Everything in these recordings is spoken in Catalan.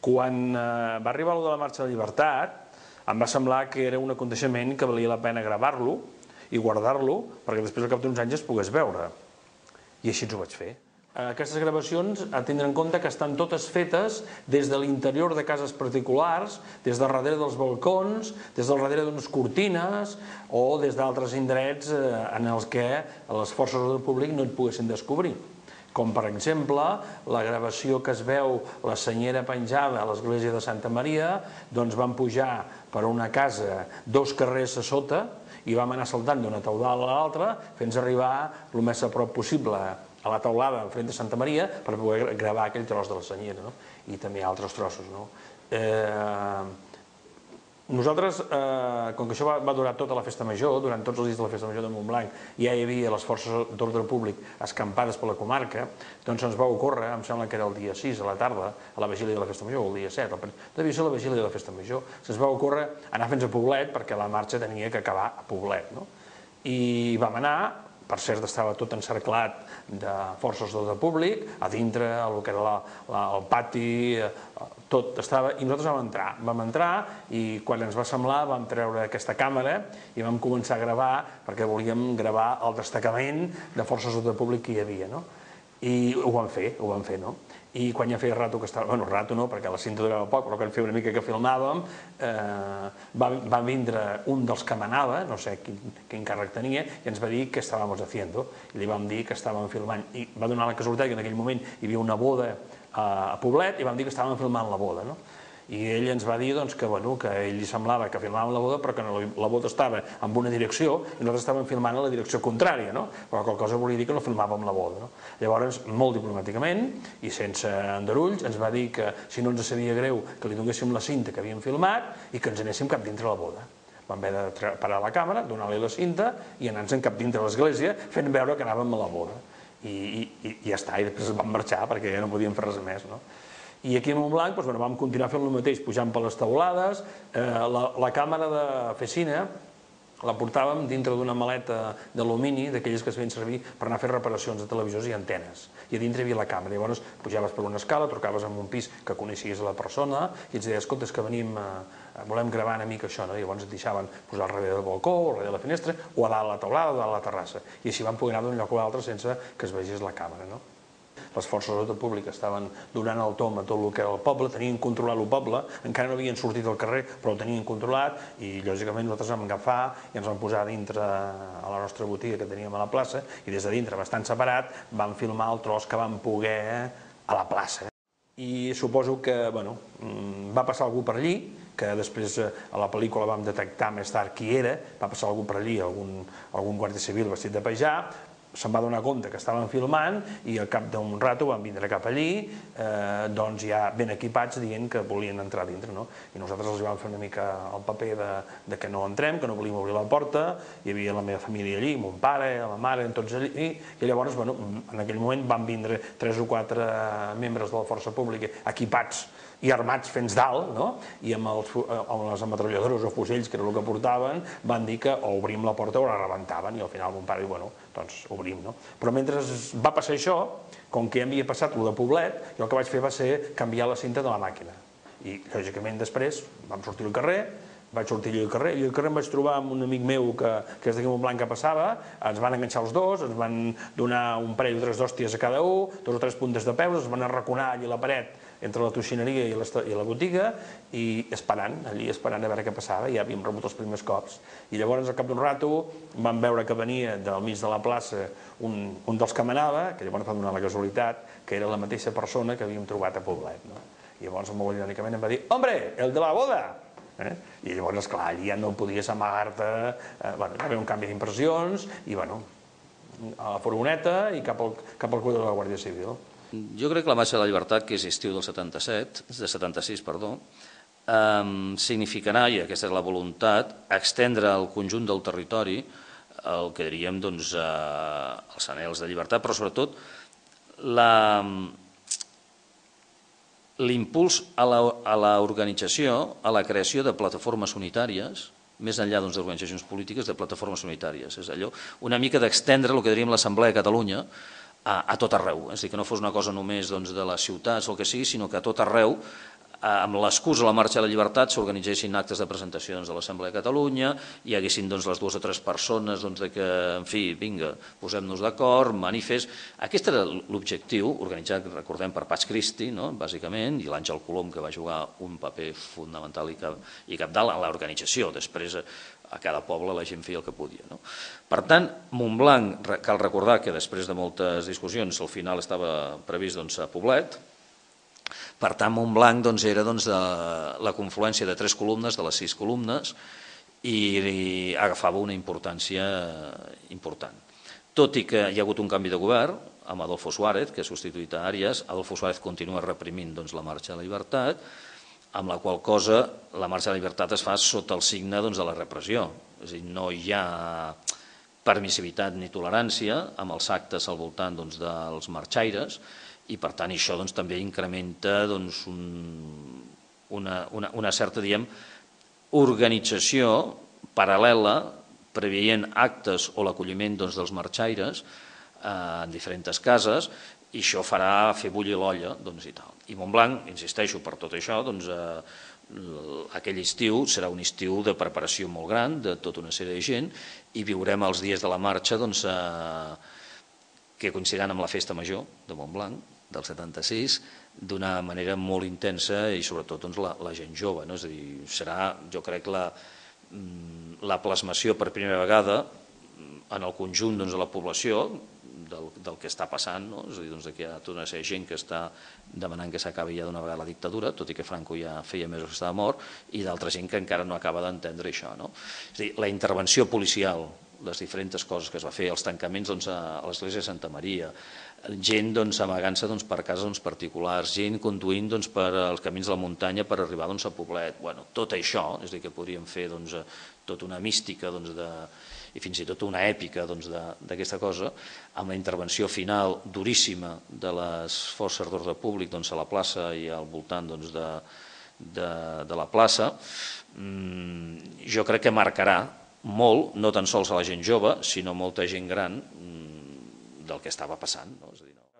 Quan va arribar de la Marxa de la Llibertat, em va semblar que era un aconteixement que valia la pena gravar-lo i guardar-lo perquè després al cap d'uns anys es pogués veure. I així ho vaig fer. Aquestes gravacions, a tindre en compte que estan totes fetes des de l'interior de cases particulars, des del darrere dels balcons, des del darrere d'unes cortines o des d'altres indrets en els que les forces d'ordre públic no et poguessin descobrir. Com, per exemple, la gravació que es veu la senyera penjada a l'església de Santa Maria, doncs van pujar per una casa 2 carrers a sota i vam anar saltant d'una teulada a l'altra fins a arribar el més a prop possible a la teulada enfront de Santa Maria per poder gravar aquell tros de la senyera, i també altres trossos. Nosaltres, com que això va durar tota la festa major, durant tots els dies de la festa major de Montblanc ja hi havia les forces d'ordre públic escampades per la comarca, doncs ens va ocórrer, em sembla que era el dia 6 a la tarda, a la vigília de la festa major, o el dia 7, devia ser la vigília de la festa major, se'ns va ocórrer anar fins a Poblet perquè la marxa tenia que acabar a Poblet. I vam anar, per cert estava tot encerclat de forces d'ordre públic, a dintre, el que era el pati, tot estava, i nosaltres vam entrar i quan ens va semblar vam treure aquesta càmera i vam començar a gravar perquè volíem gravar el destacament de forces d'ordre públic que hi havia. I ho vam fer, I quan ja feia rato que estava, bueno, rato no, perquè la cinta durava poc, però quan feia una mica que filmàvem, va vindre un dels que manava, no sé quin càrrec tenia, i ens va dir què estàvem haciendo, i li vam dir que estàvem filmant, i va donar la casualitat que en aquell moment hi havia una boda a Poblet, i vam dir que estàvem filmant la boda, I ell ens va dir que a ell li semblava que filmàvem la boda, però que la boda estava en una direcció i nosaltres estàvem filmant a la direcció contrària, però qualque cosa volia dir que no filmàvem la boda. Llavors, molt diplomàticament i sense endarulls, ens va dir que si no ens sabia greu que li donéssim la cinta que havíem filmat i que ens anéssim cap dintre la boda. Vam haver de parar la càmera, donar-li la cinta i anar-nos cap dintre l'església fent veure que anàvem a la boda. I ja està, i després vam marxar perquè ja no podíem fer res més. I aquí a Montblanc vam continuar fent el mateix, pujant per les teulades, la càmera de Fecina la portàvem dintre d'una maleta d'alumini, d'aquelles que es feien servir per anar a fer reparacions de televisors i antenes, i a dintre hi havia la càmera. Llavors pujaves per una escala, trucaves en un pis que coneixies a la persona i ens deies, escolta, és que volem gravar una mica això, i llavors et deixaven posar al darrere del balcó, o al darrere de la finestra, o a dalt a la teulada, o a dalt a la terrassa, i així vam poder anar d'un lloc a l'altre sense que es vegés la càmera. Les forces d'ordre públic estaven donant el tom a tot el que era el poble, tenien controlat el poble, encara no havien sortit al carrer, però ho tenien controlat i, lògicament, nosaltres vam agafar i ens vam posar dintre a la nostra botiga que teníem a la plaça i des de dintre, bastant separat, vam filmar el tros que vam poder a la plaça. I suposo que va passar algú per allí, que després a la pel·lícula vam detectar més tard qui era, va passar algú per allí, algun guàrdia civil vestit de pajà, se'n va donar compte que estaven filmant i al cap d'un rato van vindre cap allí, doncs ja ben equipats dient que volien entrar dintre, I nosaltres els vam fer una mica el paper de que no entrem, que no volíem obrir la porta, hi havia la meva família allí, mon pare, la mare, tots allí, i llavors, en aquell moment van vindre 3 o 4 membres de la força pública equipats i armats fins dalt, i amb les ametralladores o fusells, que era el que portaven, van dir que o obrim la porta o la rebentaven, i al final mon pare diu, doncs obrim. Però mentre va passar això, com que ja havia passat el de Poblet, jo el que vaig fer va ser canviar la cinta de la màquina. I, lògicament, després vam sortir al carrer, vaig sortir allà al carrer, i al carrer em vaig trobar amb un amic meu que és d'aquí a Montblanc que passava, ens van enganxar els dos, ens van donar un parell o 3 d'hòsties a cada un, 2 o 3 puntes de peus, ens van arraconar allà a la paret entre la toxineria i la botiga, i esperant a veure què passava, ja havíem rebut els primers cops. I llavors, al cap d'un rato, vam veure que venia del mig de la plaça un dels que manava, que llavors va donar la casualitat que era la mateixa persona que havíem trobat a Poblet. I llavors, molt irònicament, em va dir, «Hombre, el de la boda!» I llavors, esclar, allà ja no podies amagar-te, va haver un canvi d'impressions, i, a la furgoneta i cap al cuidador de la Guàrdia Civil. Jo crec que la Marxa de la Llibertat, que és estiu del 76, significarà, i aquesta és la voluntat, extendre al conjunt del territori el que diríem els anhels de llibertat, però sobretot l'impuls a l'organització, a la creació de plataformes unitàries, més enllà d'organitzacions polítiques, de plataformes unitàries. És allò, una mica d'extendre el que diríem l'Assemblea de Catalunya a tot arreu. És a dir, que no fos una cosa només de les ciutats o el que sigui, sinó que a tot arreu amb l'excusa de la Marxa de la Llibertat s'organitzessin actes de presentació de l'Assemblea de Catalunya, hi haguessin les 2 o 3 persones que, en fi, vinga, posem-nos d'acord, manifest. Aquest era l'objectiu, organitzat, recordem, per Pax Christi, bàsicament, i l'Àngel Colom, que va jugar un paper fonamental i capdalt en l'organització. Després, a cada poble la gent feia el que podia. Per tant, Montblanc, cal recordar que després de moltes discussions al final estava previst a Poblet. Per tant, Montblanc era la confluència de 3 columnes, de les 6 columnes, i agafava una importància important. Tot i que hi ha hagut un canvi de govern, amb Adolfo Suárez, que ha substituït a Arias, Adolfo Suárez continua reprimint la Marxa de la Llibertat, amb la qual cosa la Marxa de la Llibertat es fa sota el signe de la repressió. És a dir, no hi ha permissivitat ni tolerància amb els actes al voltant dels marxaires, i per tant això també incrementa una certa, organització paral·lela preveient actes o l'acolliment dels marxaires en diferents cases, i això farà fer bullir l'olla i tal. I Montblanc, insisteixo, per tot això, aquell estiu serà un estiu de preparació molt gran de tota una sèrie de gent, i viurem els dies de la marxa que coincidiran amb la festa major de Montblanc del 76 d'una manera molt intensa, i sobretot la gent jove. És a dir, serà, jo crec, la plasmació per primera vegada en el conjunt de la població del que està passant, és a dir, que hi ha tota una sèrie de gent que està demanant que s'acabi ja d'una vegada la dictadura, tot i que Franco ja feia mesos que estava mort, i d'altra gent que encara no acaba d'entendre això. És a dir, la intervenció policial, les diferents coses que es va fer, els tancaments a l'església de Santa Maria, gent amagant-se per cases particulars, gent conduint per als camins de la muntanya per arribar a Poblet. Tot això, és a dir, que podríem fer tota una mística i fins i tot una èpica d'aquesta cosa, amb la intervenció final duríssima de les forces d'ordre públic a la plaça i al voltant de la plaça, jo crec que marcarà molt, no tan sols a la gent jove, sinó molta gent gran del que estava passant.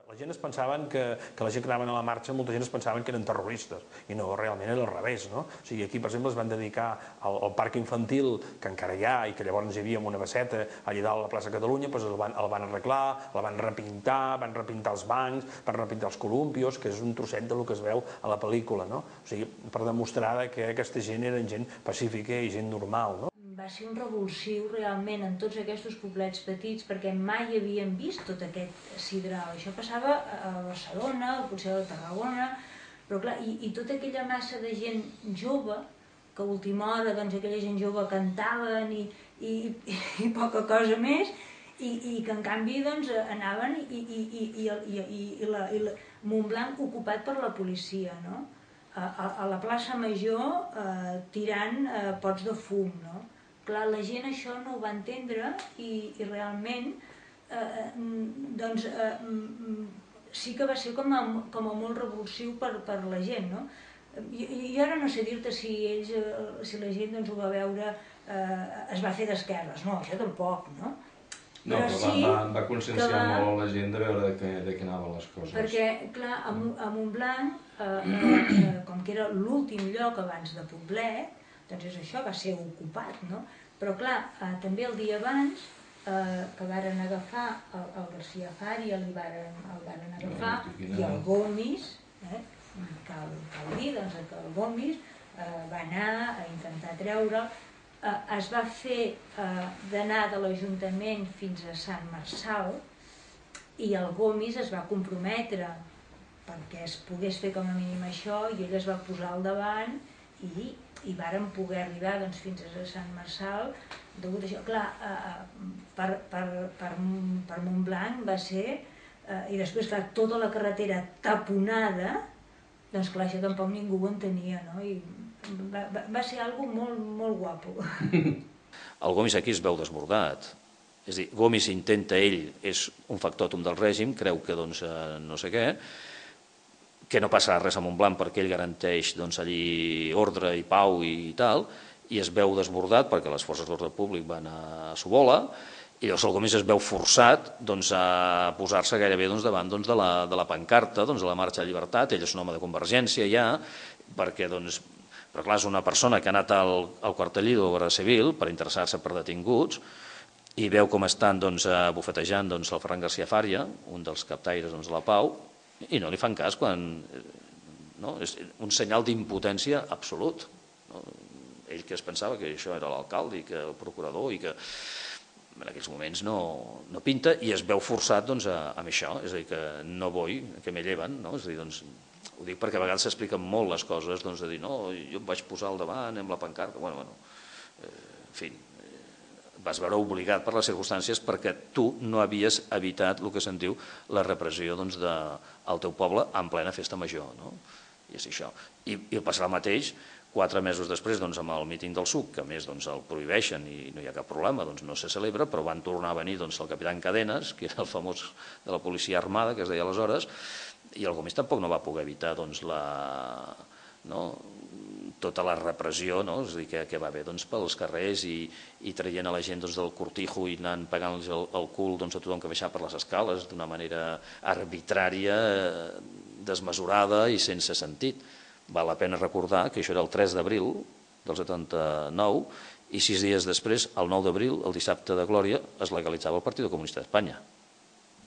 La gent es pensaven que la gent que anaven a la marxa, molta gent es pensaven que eren terroristes, i no, realment era al revés. O sigui, aquí, per exemple, es van dedicar al parc infantil, que encara hi ha, i que llavors hi havia una basseta allà dalt a la plaça Catalunya, el van arreglar, el van repintar els bancs, van repintar els columpios, que és un trosset del que es veu a la pel·lícula, o sigui, per demostrar que aquesta gent eren gent pacífica i gent normal. Va ser un revulsiu realment en tots aquests poblets petits, perquè mai havien vist tot aquest sidral. Això passava a Barcelona, potser a Tarragona, però clar, i tota aquella massa de gent jove, que a última hora aquella gent jove cantaven i poca cosa més, i que en canvi anaven i Montblanc ocupat per la policia, a la plaça Major tirant pots de fum, Clar, la gent això no ho va entendre i realment sí que va ser com a molt revulsiu per la gent. Jo ara no sé dir-te si la gent ho va veure, es va fer d'esquerres, no, això tampoc, no? No, però va conscienciar molt la gent de veure de què anaven les coses. Perquè, clar, a Montblanc, com que era l'últim lloc abans de Poblet, doncs és això, va ser ocupat, no? Però clar, també el dia abans, que varen agafar el García Fari, el varen agafar, i el Gomis, cal dir que el Gomis va anar a intentar treure'l, es va fer d'anar de l'Ajuntament fins a Sant Marçal, i el Gomis es va comprometre perquè es pogués fer com a mínim això, i ell es va posar al davant i varen poder arribar fins a Sant Marçal. Degut a això, clar, per Montblanc va ser, i després, clar, tota la carretera taponada, doncs clar, això tampoc ningú ho entenia, no? I va ser algo molt, molt guapo. El Gomis aquí es veu desbordat. És a dir, Gomis intenta, ell és un factòtum del règim, creu que no sé què, que no passarà res a Montblanc perquè ell garanteix allí ordre i pau i tal, i es veu desbordat perquè les forces d'ordre públic van a Sobola, i llavors el Gomis es veu forçat a posar-se gairebé davant de la pancarta de la Marxa de Llibertat. Ell és un home de Convergència ja, perquè, doncs, però clar, és una persona que ha anat al quartellí de la Guàrdia Civil per interessar-se per detinguts i veu com estan bufetejant el Ferran García Fària, un dels captaires de la Pau, i no li fan cas quan... És un senyal d'impotència absolut. Ell que es pensava que això era l'alcalde i que el procurador i que en aquells moments no pinta i es veu forçat amb això, és a dir, que no vull, que me lleven, és a dir, ho dic perquè a vegades s'expliquen molt les coses, de dir, no, jo em vaig posar al davant amb la pancarta, en fi, vas veure obligat per les circumstàncies perquè tu no havies evitat el que se'n diu la repressió del teu poble en plena festa major, i és això. I passarà el mateix 4 mesos després amb el míting del SUC, que a més el prohibeixen i no hi ha cap problema, no se celebra, però van tornar a venir el capitán Cadenas, que era el famós de la policia armada, que es deia aleshores, i el Gomis tampoc no va poder evitar tota la repressió que va haver pels carrers i traient a la gent del cortijo i anant pagant el cul a tothom que baixava per les escales d'una manera arbitrària, desmesurada i sense sentit. Val la pena recordar que això era el 3 d'abril del 79 i 6 dies després, el 9 d'abril, el dissabte de Glòria, es legalitzava el Partit Comunista d'Espanya.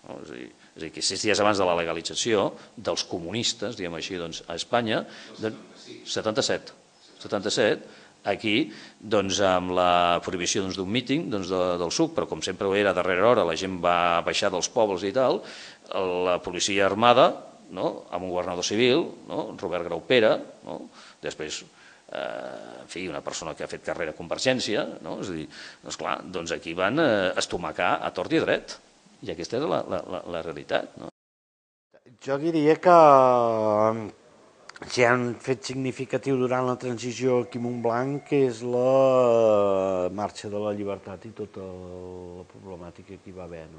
És a dir, que 6 dies abans de la legalització dels comunistes, diguem així, a Espanya, 77, aquí, amb la prohibició d'un míting del SUC, però com sempre era a darrera hora, la gent va baixar dels pobles i tal, la policia armada, amb un governador civil, Robert Graupera, després, en fi, una persona que ha fet carrera a Convergència, és a dir, esclar, doncs aquí van estomacar a tort i a dret, i aquesta era la realitat. Jo diria que si han fet significatiu durant la transició aquí a Montblanc, que és la marxa de la llibertat i tota la problemàtica que hi va haver,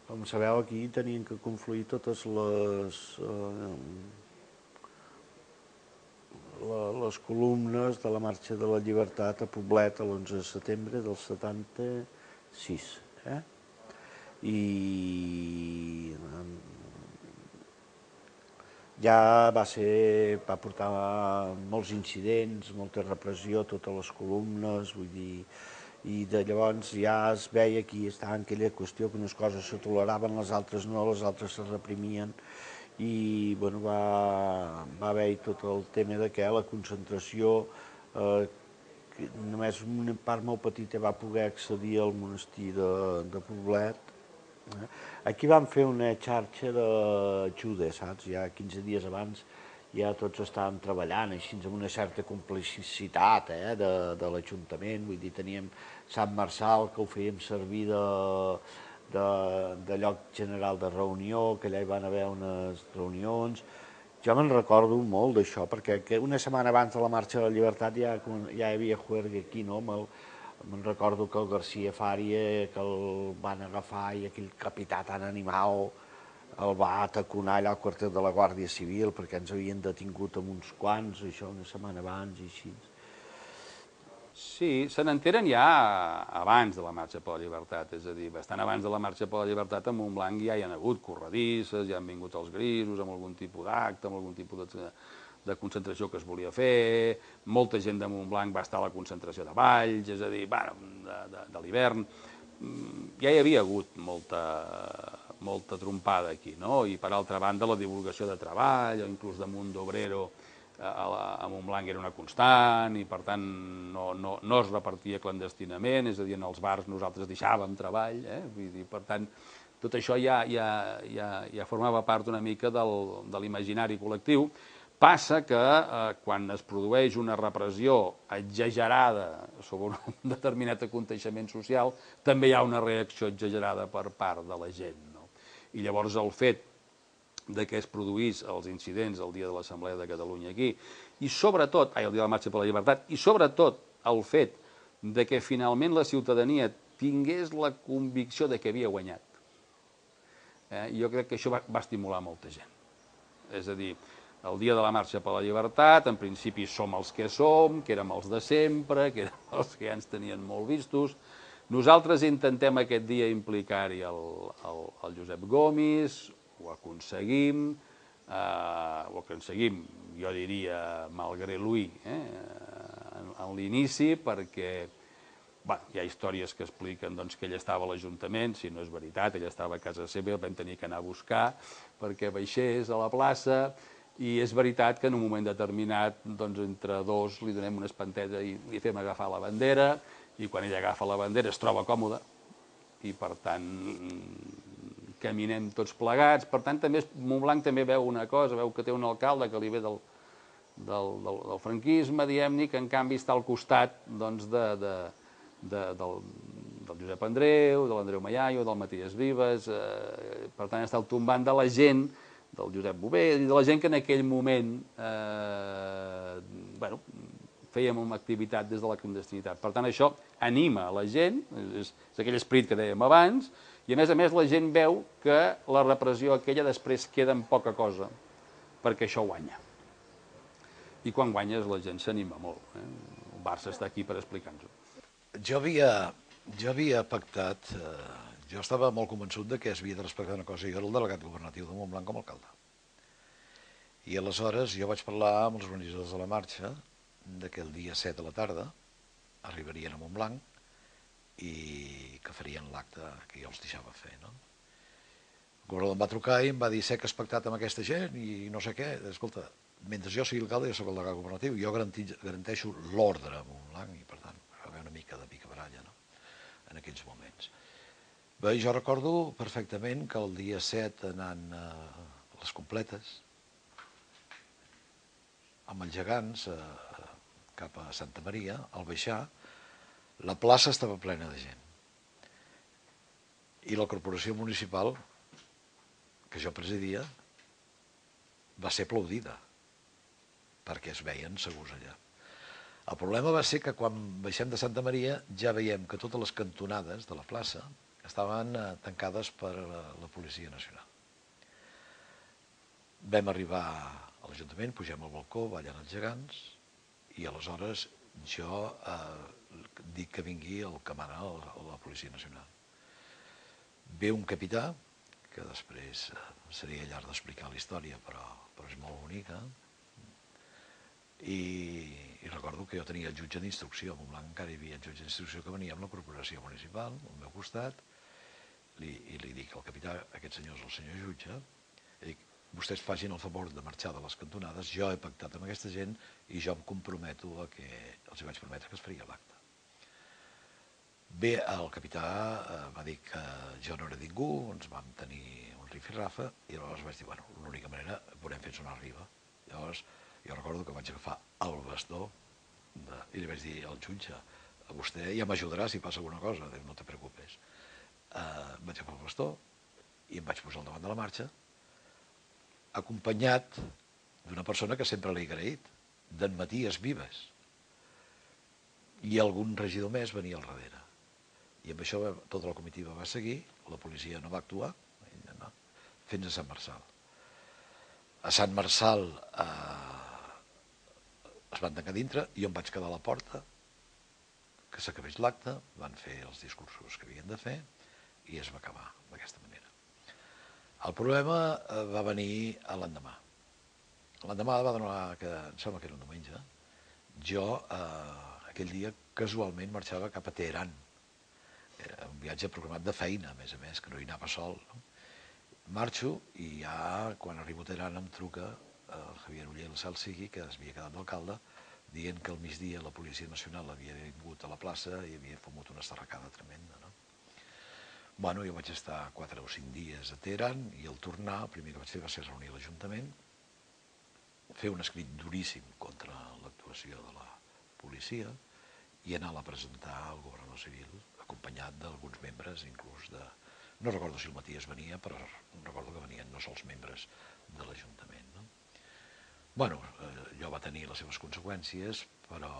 com sabeu, aquí tenien que confluir totes les columnes de la Marxa de la Llibertat a Poblet l'11 de setembre del 76. I ja va portar molts incidents, molta repressió, totes les columnes, vull dir, i de llavors ja es veia que estava en aquella qüestió que unes coses se toleraven, les altres no, les altres se reprimien, i va haver-hi tot el tema que la concentració, només una part molt petita va poder accedir al monestir de Poblet. Aquí van fer una xarxa d'ajuda, saps? Ja 15 dies abans ja tots estàvem treballant així amb una certa complicitat de l'Ajuntament, vull dir, teníem Sant Marçal que ho fèiem servir de lloc general de reunió, que allà hi van haver unes reunions. Jo me'n recordo molt d'això, perquè una setmana abans de la Marxa de la Llibertat ja hi havia juerga aquí, no? Me'n recordo que el García Fària, que el van agafar i aquell capità tan animal el va ataconar allà al quartel de la Guàrdia Civil perquè ens havien detingut amb uns quants, això una setmana abans i així. Sí, se n'enteren ja abans de la Marxa per la Llibertat, és a dir, bastant abans de la Marxa per la Llibertat a Montblanc ja hi ha hagut corredisses, ja han vingut els grisos amb algun tipus d'acte, amb algun tipus de concentració que es volia fer, molta gent de Montblanc va estar a la concentració de Valls, és a dir, de l'hivern, ja hi havia hagut molta trompada aquí, no? I per altra banda la divulgació de treball, o inclús de Mundo Obrero a Montblanc era una constant i per tant no es repartia clandestinament, és a dir, en els bars nosaltres deixàvem treball, vull dir, per tant, tot això ja formava part una mica de l'imaginari col·lectiu. Passa que quan es produeix una repressió exagerada sobre un determinat aconteixement social, també hi ha una reacció exagerada per part de la gent. I llavors el fet que es produís els incidents el dia de l'Assemblea de Catalunya aquí, i sobretot, el dia de la Marxa per la Llibertat, i sobretot el fet que finalment la ciutadania tingués la convicció que havia guanyat. Jo crec que això va estimular molta gent. És a dir, el dia de la Marxa per la Llibertat, en principi som els que som, que érem els de sempre, que érem els que ja ens tenien molt vistos. Nosaltres intentem aquest dia implicar-hi el Josep Gomis, ho aconseguim, ho aconseguim, jo diria, malgré lui, en l'inici, perquè hi ha històries que expliquen que ell estava a l'Ajuntament, si no és veritat, ell estava a casa seva, el vam tenir que anar a buscar perquè baixés a la plaça, i és veritat que en un moment determinat, entre dos li donem una espanteta i li fem agafar la bandera, i quan ell agafa la bandera es troba còmode, i per tant caminem tots plegats. Per tant, Montblanc també veu una cosa, veu que té un alcalde que li ve del franquisme, diguem-ne, que en canvi està al costat del Josep Andreu, de l'Andreu Mallaio, del Matías Vives, per tant està al tombant de la gent, del Josep Bové, i de la gent que en aquell moment fèiem una activitat des de la clandestinitat. Per tant, això anima la gent, és aquell esperit que dèiem abans, i a més la gent veu que la repressió aquella després queda en poca cosa, perquè això guanya. I quan guanyes la gent s'anima molt. El Barça està aquí per explicar-nos-ho. Jo havia pactat, jo estava molt convençut que es havia de respectar una cosa, jo era el delegat governatiu de Montblanc com a alcalde. I aleshores jo vaig parlar amb els organitzadors de la marxa que el dia 7 a la tarda arribarien a Montblanc i que farien l'acte que jo els deixava fer. El governador em va trucar i em va dir: sé que has pactat amb aquesta gent i no sé què. Escolta, mentre jo sigui alcalde, jo soc el delegat governatiu, jo garanteixo l'ordre a Montblanc i, per tant, va haver una mica de picabaralla en aquells moments. Bé, jo recordo perfectament que el dia 7, anant a les completes, amb els gegants cap a Santa Maria, al baixar, la plaça estava plena de gent. I la corporació municipal, que jo presidia, va ser aplaudida, perquè es veien segurs allà. El problema va ser que quan baixem de Santa Maria ja veiem que totes les cantonades de la plaça estaven tancades per la Policia Nacional. Vam arribar a l'Ajuntament, pugem al balcó, ballen els gegants, i aleshores jo dic que vingui el que mana la Policia Nacional. Ve un capità, que després seria llarg d'explicar la història, però és molt bonica, i recordo que jo tenia el jutge d'instrucció, a Montblanc encara hi havia el jutge d'instrucció que venia amb la corporació municipal, al meu costat, i li dic al capità: aquest senyor és el senyor jutge, i dic: vostès facin el favor de marxar de les cantonades, jo he pactat amb aquesta gent i jo em comprometo a que els vaig prometre que es faria l'acte. Bé, el capità va dir que jo no era ningú, ens vam tenir un rifirrafa, i llavors vaig dir: bueno, l'única manera, veurem fins on arriba. Llavors, jo recordo que vaig agafar el bastó i li vaig dir al jutge: a vostè ja m'ajudarà si passa alguna cosa. Diu: no te preocupes. Vaig agafar el bastó i em vaig posar al davant de la marxa, acompanyat d'una persona que sempre l'he agraït, d'en Matías Vives, i algun regidor més venia al darrere. I amb això tota la comitiva va seguir, la policia no va actuar, fins a Sant Marçal. A Sant Marçal es van tancar dintre, jo em vaig quedar a la porta, que s'acabés l'acte, van fer els discursos que havien de fer i es va acabar d'aquesta manera. El problema va venir l'endemà. L'endemà va donar, em sembla que era un diumenge, jo aquell dia casualment marxava cap a Teheran. Era un viatge programat de feina, a més, que no hi anava sol. Marxo i ja, quan arribo a Teheran, em truca el Javier Uller, el cel sigui, que es havia quedat d'alcalde, dient que al migdia la Policia Nacional havia vingut a la plaça i havia fumut una estarracada tremenda. Bueno, jo vaig estar 4 o 5 dies a Teheran i al tornar, el primer que vaig fer va ser reunir l'Ajuntament, fer un escrit duríssim contra l'actuació de la policia i anar-la a presentar al governador civil, acompanyat d'alguns membres, inclús de... No recordo si el Matías venia, però recordo que venien no sols membres de l'Ajuntament. Bueno, allò va tenir les seves conseqüències, però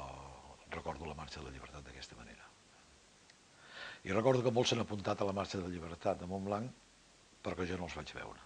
recordo la Marxa de la Llibertat d'aquesta manera. I recordo que molts s'han apuntat a la Marxa de la Llibertat de Montblanc, però que jo no els vaig veure.